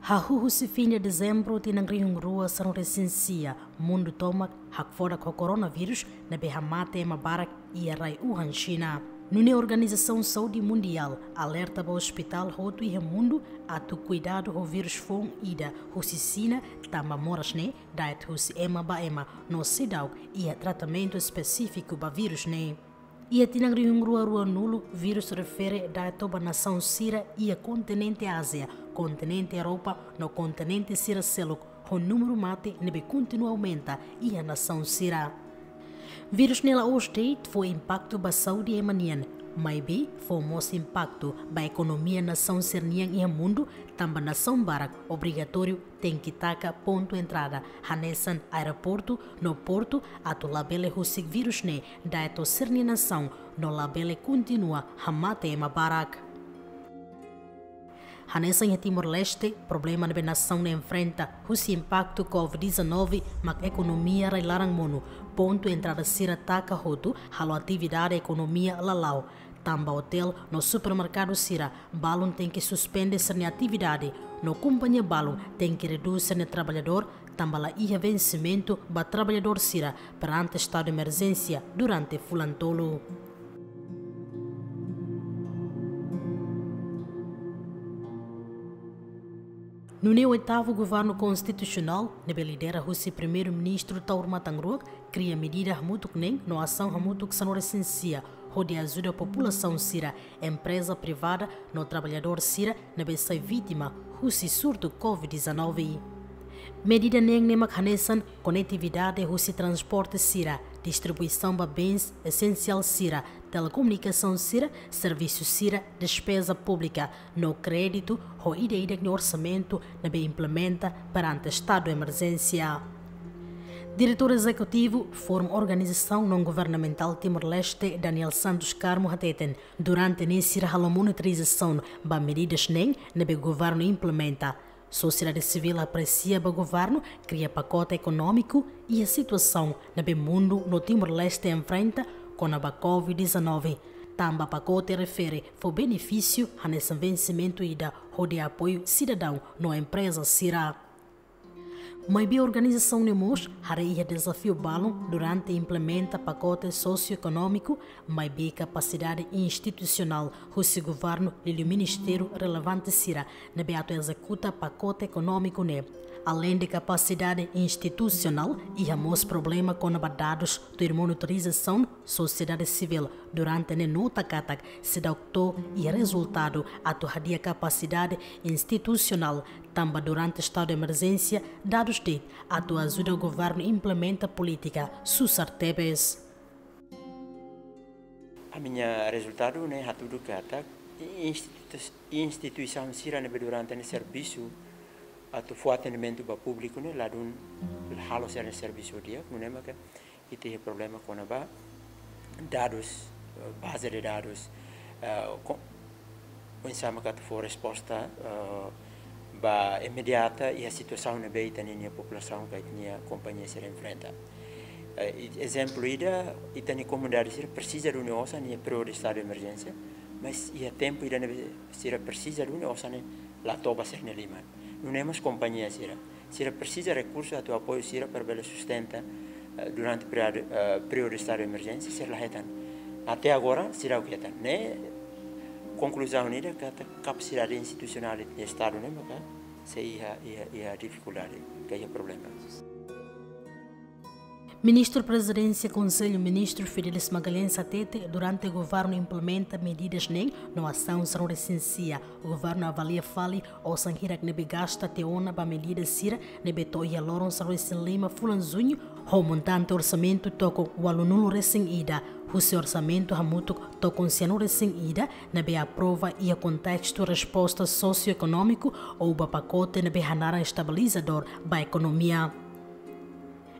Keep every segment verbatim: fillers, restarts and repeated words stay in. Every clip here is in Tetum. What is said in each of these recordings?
Hahú husi fin de Dezembru tinan rihun rua sanulu-resin-sia, mundu tomak hakfodak ho koronavírus ne'ebé hamate ema barak iha rai Wuhan, Xina. Nune'e Organizasaun Saúde Mundiál alerta ba ospitál hotu iha mundu atu kuidadu ho vírus foun ida husi Xina, tanba moras ne'e da'et husi ema ba ema no seidauk iha tratamentu espesífiku ba vírus ne'e. Iha tinan rihun rua ruanulu, vírus refere da'et to'o ba nasaun sira iha kontinente Ázia, kontinente Europa no kontinente sira seluk, ho númeru mate ne'ebé kontinua aumenta iha nasaun sira. Vírus ne'e la'ós de'it fó impaktu ba saúde ema nian, maibé fó mós impaktu ba ekonomia nasaun sira-nian iha mundu, tanba nasaun barak obrigatóriu tenke taka pontu entrada, hanesan aeroportu no portu, atu labele husik vírus ne'e da'et to'o sira-nia nasaun no labele kontinua hamate ema barak. Hanesan iha Timor-Leste, problema ne'ebé nasaun ne'e enfrenta husi impaktu covid dezanove mak ekonomia rai-laran monu, pontu entrada sira taka hotu, halo atividade ekonomia la la'o. Tanba otél no supermerkadu sira balun tenke suspende sira-nia atividade, no kompañia balun tenke redús sira-nia traballadór, tanba la iha vensimentu ba traballadór sira perante estadu de emerjénsia durante fulan tolu. Nune'e oitavu Governu Konstitusionál, ne'ebé lidera husi Primeiru-Ministru Taur Matan Ruak, kria medida hamutuk neen no asaun hamutuk sanulu-resin-sia, hodi ajuda populasaun sira, empreza privada no traballadór sira ne'ebé sai vítima husi surtu covid dezanove. Medida neen ne'e mak hanesan konetividade husi transporte sira, distribuisaun ba bens esensiál sira, telekomunikasaun sira, servisu sira, despeza públika, no kréditu ho ida-idak nia orsamentu ne'ebé implementa perante estadu de emerjénsia. Diretór Ezekutivu Fórum Organizasaun Naun-Governamentál Timor-Leste, Daniel Santos Carmo, hateten, durante ne'e sira halo monitorizasaun ba medidas neen ne'ebé governu implementa. Sosiedade sivíl apresia ba governu kria pakote ekonómiku iha situasaun ne'ebé mundu no Timor-Leste enfrenta kona-ba covid dezanove. Tanba pakote refere fó benefísiu hanesan vensimentu ida hodi apoiu sidadaun no empreza sira. Maibé organizasaun ne'e mós haree iha dezafiu balun durante implementa pakote sosioekonómiku, maibé kapasidade institusionál husi governu liuliu ministériu relevante sira ne'ebé atu ezekuta pakote ekonómiku ne'e. Aleinde kapasidade institusionál, iha mós problema kona-ba dadus tuir monitorizasaun sosiedade sivíl. Durante ne'e nota katak seidauk to'o iha rezultadu atu hadi'a kapasidade institusionál, tanba durante estadu de emerjénsia dadus de'it atu ajuda governu implementa polítika susar tebes. Ami-nia rezultadu ne'e hatudu katak institu-, instituisaun sira ne'ebé durante ne'e servisu atu fó atendimentu ba públiku ne'e ladún halo sira-nia servisu di'ak, nune'e maka ita iha problema kona-ba dadus, eh, baze de dadus, eh, ko-, oinsá maka atu fó resposta, eh, ba imediata iha situasaun ne'ebé ita-nia populasaun ka ita-nia kompañia sira enfrenta. Eh, i-, ezemplu ida, ita-nia komunidade sira presiza duni osan iha períodu estadu de emerjénsia, mas iha tempu ida ne'ebé sira presiza duni osan ne'e la to'o ba sira-nia liman. Nune'e mós kompañia sira. Sira presiza rekursu atu apoiu sira para bele sustenta, eh, durante períodu, eh, períodu estadu de emerjénsia, sira la hetan. Até agora, sira la hetan. Ne'e konkluzaun ida katak kapasidade institusionál de estadu ne'e maka sei iha, iha, iha difikuldade, ka iha problema. Ministru Prezidénsia Konsellu Ministru Fidelis Magalhães hatete, durante governu implementa medidas neen no asaun sanulu-resin-sia, governu avalia fali osan hirak ne'ebé gasta tiha ona ba medida sira ne'ebé to'o iha loron sanulu-resin-lima fulan Juñu, ho montante orsamentu tokon ualunulu-resin-ida, husi orsamentu hamutuk tokon sianulu-resin-ida, ne'ebé aprova iha kontestu resposta sosioekonómiku ou ba pakote ne'ebé hanaran estabilizadór ba ekonomia.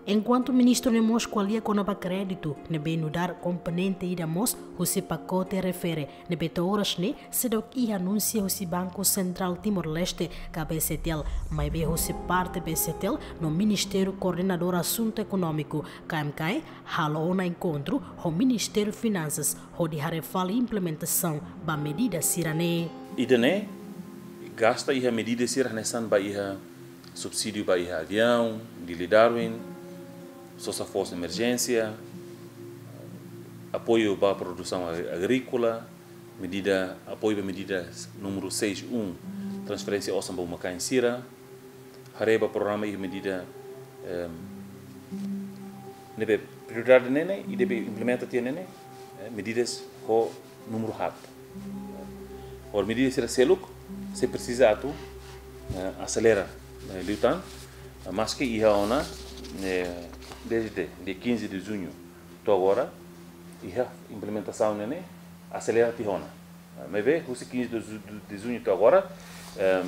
Enkuantu ministru ne'e mós ko'alia kona-ba kréditu ne'ebé nu'udar komponente ida mós husi pakote refere ne'ebé to'o oras ne'e seidauk iha anúnsia husi Banku Sentrál Timor-Leste ka B C T L, maibé husi parte B C T L no Ministériu Koordenadór Asuntu Ekonómiku, K M K E, halo ona enkontru ho Ministériu Finansas hodi haree fali implementasaun ba medida sira-ne'e. Ida-ne'e Gasta iha medida sira hanesan ba iha subsídiu ba iha aviaun, Dili Darwin, sosa fos emerjénsia, apoiu ba produsaun agri-, agríkola, medida, apoiu ba medida númeru seis um, transferénsia osan ba uma-kain sira, haree ba programa iha medida, em, ne'ebé prioridade ne'e ne'e, i debe implementa tiha ne'e ne'e, eh, medidas ho númeru haat. Agora medida sira seluk, sei presiza atu, eh, aselera, eh, liután, eh, maski iha ona, eh, dezde dia quinze de junho to'o agora, iha implementasaun ne'e ne'e aselera tiha ona. Eh, maibé, husi quinze de ju-, de junho to'o agora, eh,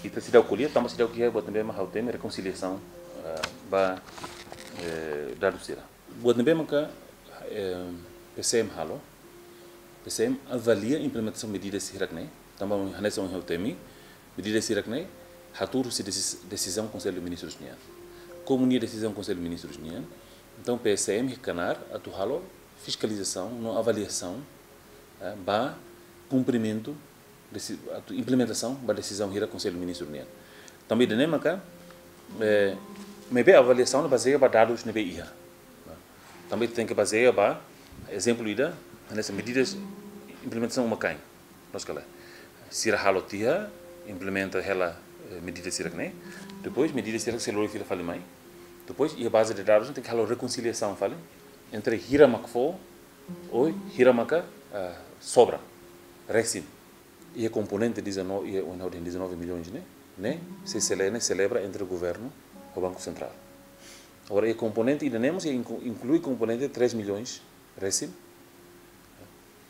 ita seidauk ko'alia, tanba seidauk iha buat ne'ebé mak ha'u temi rekonsiliasaun, eh, ba, eh, dadus sira. Buat ne'ebé maka, eh, P C M halo, P C M avalia implementasaun medidas hirak-ne'e, tanba hanesan ohin ha'u temi, medidas hirak-ne'e hatuur husi desis-, desizaun Konsellu Ministrus nian. Komu nia desizaun Konsellu Ministrus nian, entaun P C M iha knaar atu halo fiskalizasaun no avaliasaun, eh, ba kumprimentu desi-, atu implementasaun ba desizaun hirak Konsellu Ministrus nian. Tanba ida-ne'e maka, eh, maibé avaliasaun bazeia ba dadus ne'ebé iha. Tanba tenke bazeia ba ezemplu ida, hanesan medidas implementasaun uma-kain. Loos ka lae? Sira halo tiha, implementa hela, eh, medidas hirak-ne'e. Depois, medidas hirak sei lori fila fali mai. Depois, iha baze de dadus, tenke halo rekonsiliasaun fali entre hira mak fó, ou hira maka, ah, sobra, resin. Iha komponente dezanove, iha oin ha'u dehan dezanove milhões ne'e, ne'e sei sele-, ne'e selebra entre governu ho Banku Sentrál. Agora, iha komponente ida-ne'e mós iha inku-, inklui komponente três milhões resin,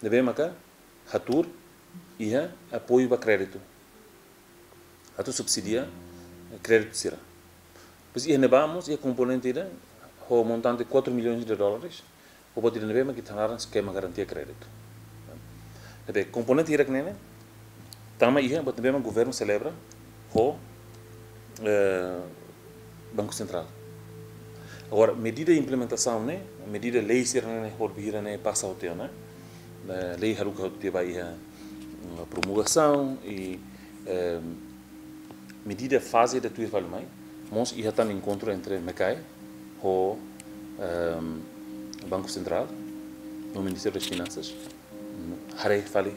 ne'ebé maka hatuur iha apoiu ba kréditu. Atu subsidia, eh, kréditu sira. Depois iha ne'ebá mós iha komponente ida ho montante quatro milhões de dólares, ho buat ida ne'ebé mak ita hanaran eskema garantia kréditu. Ne'ebé komponente hirak-ne'e ne'e, tama iha buat ne'ebé mak governu selebra ho, eh, Banku Sentrál. Agora, medida implementasaun ne'e, medida lei sira-ne'e, hodi hira-ne'e pasa hotu ona, eh, lei haruka hotu tiha ba iha, mm, promulgasaun i, eh, medida faze ida tuir fali mai, mós iha tan enkontru entre MECAE ho, ehm, Banku Sentrál, no Ministériu das Finansas, mm, haree fali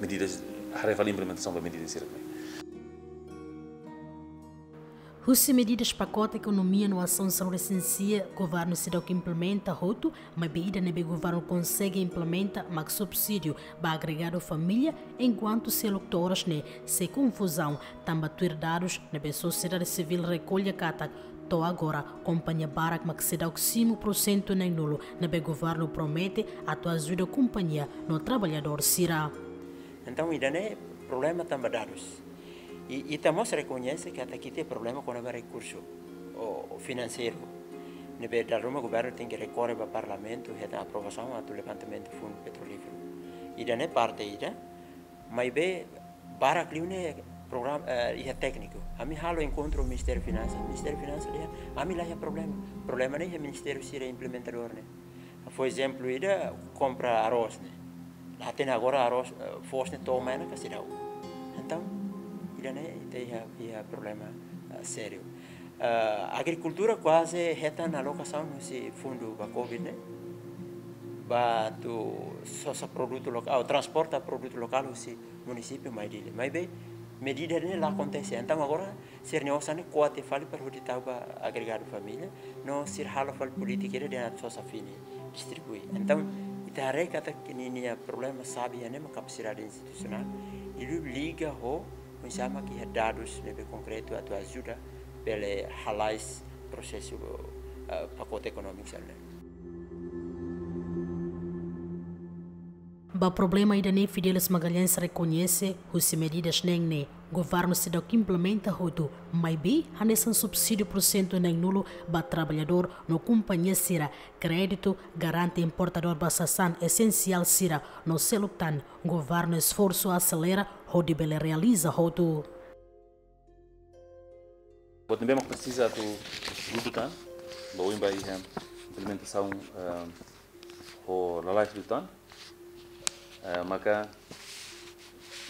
medidas, haree fali implementasaun ba medidas sira-ne'e. Husi medidas pakote ekonomia no asaun saúde esensiál, governu seidauk implementa hotu, maibé ida ne'ebé governu konsege implementa mak subsídiu ba agregadu família, enkuantu seluk to'o oras ne'e sei konfuzaun, tanba tuir dadus ne'ebé sosiedade sivíl rekolla katak, to'o agora, kompañia barak mak seidauk simu pursentu neenulu ne'ebé governu promete atu ajuda kompañia no traballadór sira. Entaun, ida-ne'e problema tanba dadus. I, ita mós rekoñese katak ita iha problema kona-ba rekursu, ou finanseiru. Ne'ebé dala ruma governu tenke rekorre ba Parlamentu, hetan aprovasaun atu levantamentu fundu petrolíferu. Ida-ne'e parte ida, maibé barak liu ne'e programa, eh, iha tékniku. Ami halo enkontru Ministériu Finansas, Ministériu Finansas dehan, ami la iha problema. Problema ne'e iha ministériu sira implementadór ne'e. Fó ezemplu ida, kompra arroz ne'e. La hatene agora arroz, eh, foos ne'e to'o mai ona ka seidauk. Entaun, ida-ne'e ita iha, iha problema, eh, sériu. Eh, agrikultura kuaze hetan alokasaun husi fundu ba covid ne'e. Ba atu sosa produtu lokál, ou transporta produtu lokál husi munisípiu mai Dili. Maibé, medida ne'e la akontese. Entaun agora, sira-nia osan ne'e ko'a tiha fali para hodi tau ba agregadu família, no sira halo fali polítika ida dehan atu sosa fini, distribui. Entaun, ita haree katak ninia problema xave iha ne'e mak kapasidade institusionál, i liga ho, oinsá mak iha dadus ne'ebé konkretu atu ajuda, bele halais prosesu, eh, pakote ekonómiku sira-ne'e. Ba problema ida-ne'e Fidelis Magalhães rekoñese, husi medidas neen ne'e, governu seidauk implementa hotu, maibé hanesan subsídiu pursentu neenulu ba traballadór no kompañia sira, kréditu, garante importadór ba sasán esensiál sira, no seluk tan, governu esforsu aselera hodi bele realiza hotu. Buat ne'ebé mak presiza atu dudu tan, ba oin ba iha implementasaun, eh, ho lalais liután, eh, maka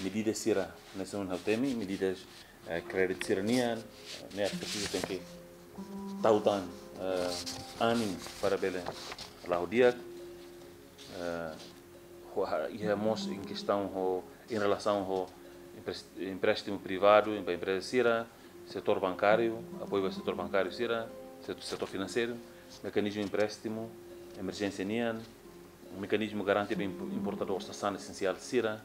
medida sira, hanesan ohin ha'u temi, medidas, eh, kréditu sira nian, eh, ne'e presiza tenke tau tan, eh, ánimu para bele la'o di'ak, eh, ho, ha, iha mós em questão ho, em relação ho empres-, empréstimu privadu, ba empreza sira, setór bankáriu, apoiu ba setór bankáriu sira, setór, setór finanseiru, mekanizmu empréstimu emerjénsia nian, mekanizmu garantia ba imp-, importadór sasán esensiál sira,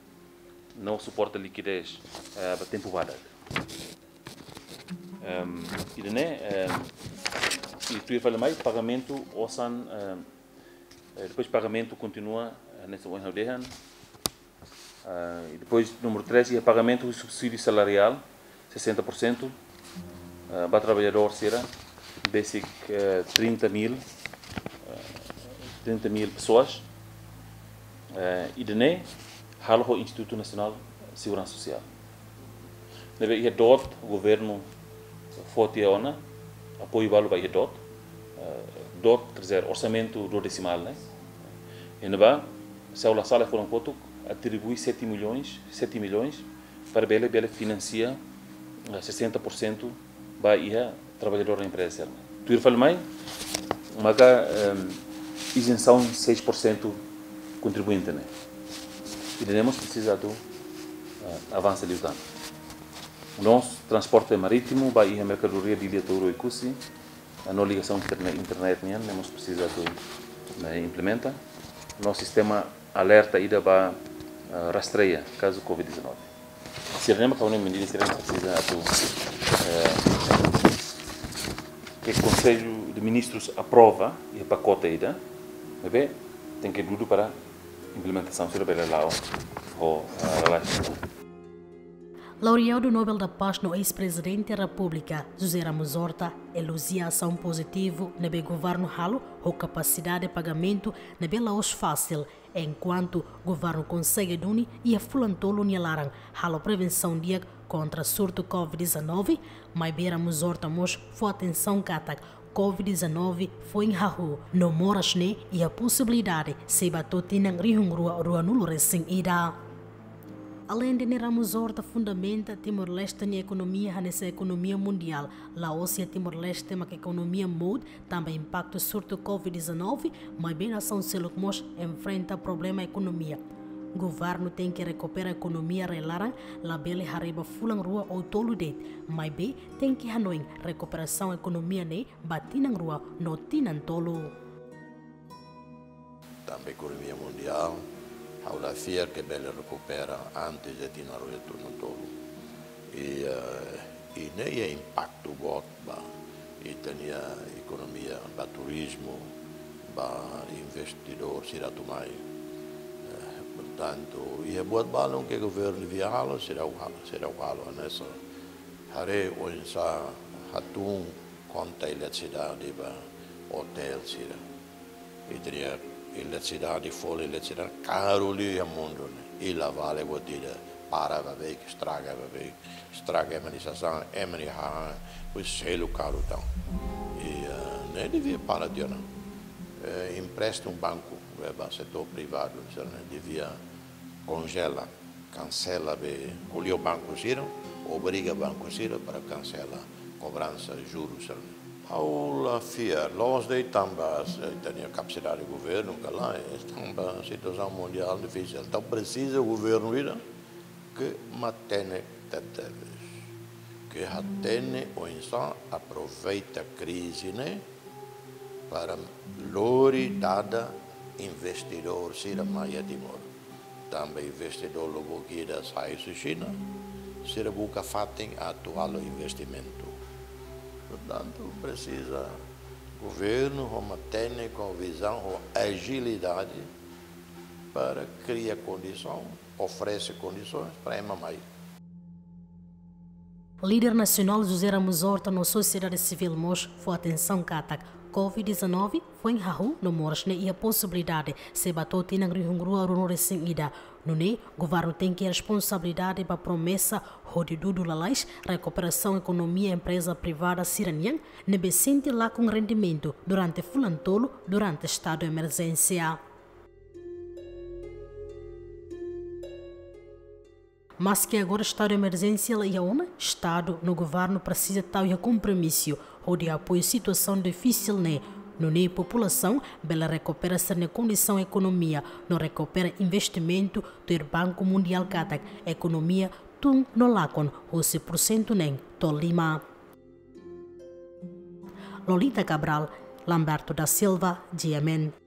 no suporta likidez, eh, ba tempu badak. Em, ida-ne'e, em, i tuir fali mai, pagamentu osan, em, eh, depois pagamentu kontinua, eh, hanesan ohin ha'u dehan. Ah, i depois, númeru três, iha pagamentu subsídiu salariál, sessenta por cento, ah, ba trabalhadór sira, besik, eh, trinta mil, eh, trinta mil pessoas. Eh, ida-ne'e halo ho Institutu Nasionál Seguransa Sosiál. Ne'ebé iha DOT, governu fó tiha ona apoiu balu ba iha DOT. Eh, DOT, quer dizer, orsamentu duodesimál, ne'e? Iha ne'ebá, se ha'u la sala, fulan kotuk atribui sete milhões, sete milhões, para bele, bele finansia, eh, sessenta por cento ba iha trabalhadór da empreza. Tuir fali mai, maka, em, izensaun seis por cento kontribuinte, ne'e? Ida-ne'e mós presiza atu, eh, avansa liután. Nos transporte marítimu ba iha merkadoria Dili, Touro, Oekusi, no ligasaun interne-, internet nian, ne'e mós presiza atu, ne'e, implementa. No sistema alerta ida ba, eh, rastreia kazu covid dezanove. Sira-ne'e mak ha'u hanoin medida sira-ne'e presiza atu, eh, ke Konsellu de Ministrus aprova iha pakote ida, ne'ebé tenke dudu para implementasaun sira bele la'o ho, eh, lalais. Laureadu Nobel da Paz no eis-Prezidente Repúblika, José Ramos Horta, elojia asaun pozitivu ne'ebé governu halo ho kapasidade pagamentu ne'ebé la'ós fasil, enkuantu governu konsege duni iha fulan tolu nia laran halo prevensaun di'ak kontra surtu covid dezanove, maibé Ramos Horta mós fó atensaun katak covid dezanove foin hahú, no moras ne'e iha posibilidade sei ba to'o tinan rihun rua ruanulu resin ida. Aleinde ne'e, Ramos Horta fundamenta Timor-Leste nia ekonomia hanesan ekonomia mundiál, la'ós iha Timor-Leste mak ekonomia mout tanba impaktu surtu covid dezanove, maibé nasaun seluk mós enfrenta problema ekonomia. Governu tenke rekupera ekonomia rai-laran, labele haree ba fulan rua ou tolu de'it, maibé tenke hanoin rekuperasaun ekonomia ne'e ba tinan rua no tinan tolu. Tanba ekonomia mundiál, ha'u la fiar ke bele rekupera antes de tinan rua no tinan tolu. I, eh, i ne'e iha impaktu boot ba ita-nia ekonomia, ba turizmu, ba investidór sira atu mai. Eh, portantu, iha buat balun ke governu devia halo, seidauk halo, seidauk halo, hanesan haree oinsá hatún konta eletrisidade ba otél sira. Ita-nia eletrisidade, folin eletrisidade karu liu iha mundu ne'e. I la vale buat ida, para ba beik, estraga ba beik. Estraga ema nia sasán, ema nia hahán, depois selu karu tan. I, eh, ne'e devia para tiha ona. Eh, empréstimu banku, eh, ba setór privadu, sira-ne'e devia konjela, kansela be, ko'alia ho banku sira, obriga banku sira para kansela kobransa juru sira-ne'e. Ha'u la fiar, la'ós de'it tanba ita-nia kapasidade governu ka lae, tanba situasaun mundiál difisil. Entaun presiza governu ida ke matenek tebetebes, ke hatene oinsá aproveita krize ne'e para lori dada investidór sira mai iha Timor. Tanba investidór lubuk ida sai husi Xina, sira buka fatin atu halo investimentu. Portantu, presiza governu ho matenek, ho vizaun, ho ajilidade para kria kondisaun, oferese kondisoens para ema mai. Líder nasionál José Ramos Horta no sosiedade sivíl mós fó atensaun katak covid dezanove foin hahú no moras ne'e iha posibilidade sei ba to'o tinan rihun rua ruanulu resin ida. Nune'e, governu tenke responsabilidade ba promesa hodi dudu lalais rekuperasaun ekonomia empreza privada sira-nian ne'ebé sente lakon rendimentu durante fulan tolu durante estadu emerjénsia. Maske agora estadu de emerjénsia la iha ona, estadu no governu presiza tau iha kompromisu hodi apoia situasaun difisil ne'e, nune'e populasaun bele rekupera sira-nia kondisaun ekonomia no rekupera investimentu tuir Banku Mundiál katak ekonomia tun no lakon husi pursentu neen to'o lima. Lolita Cabral, Lamberto da Silva, G M N.